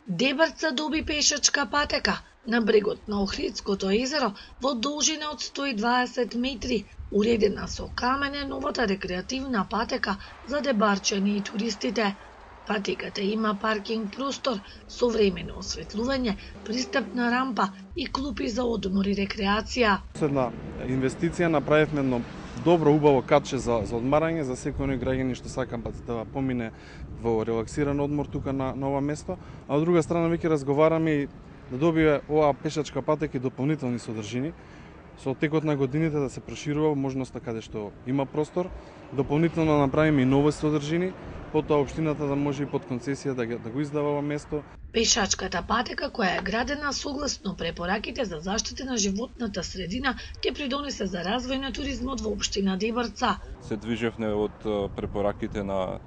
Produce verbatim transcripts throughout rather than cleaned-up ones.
Дебарца доби пешачка патека на брегот на Охридското езеро во должина од сто и дваесет метри, уредена со камене новата рекреативна патека за дебарчани и туристите. Патеката има паркинг простор, современо осветлување, пристапна рампа и клупи за одмор и рекреација. Една инвестиција направивме едно добро, убаво катче за, за одмарање за секој оној граѓани што сакам да помине во релаксиран одмор тука на, на ова место, а од друга страна веќе разговараме и да добие оваа пешачка патека и дополнителни содржини. Со текот на годините да се проширува можноста каде што има простор, дополнително да направиме и нови содржини, потоа општината да може и под концесија да, да го издава ова место. Пешачката патека, која е градена согласно препораките за заштита на животната средина, ќе придонесе за развој на туризмот во општина Дебарца. Се движевме од препораките на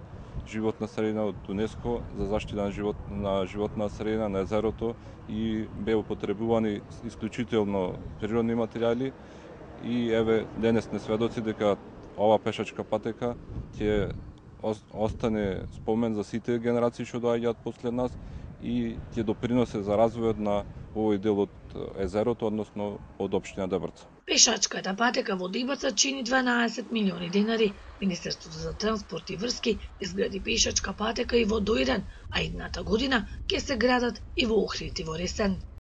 животна средина од ЮНЕСКО за заштита на, живот, на животна средина на езерото и беа употребувани исклучително природни материјали и еве денес сме сведоци дека ова пешачка патека ќе остане спомен за сите генерации што доаѓаат после нас и ќе доприносе за развојот на овој дел од езерото, односно од општина Дебарца. Пешачката патека во Дебарца чини дванаесет милиони денари. Министерството за транспорт и врски изгради пешачка патека и во Доиран, а идната година ќе се градат и во Охрид и во Ресен.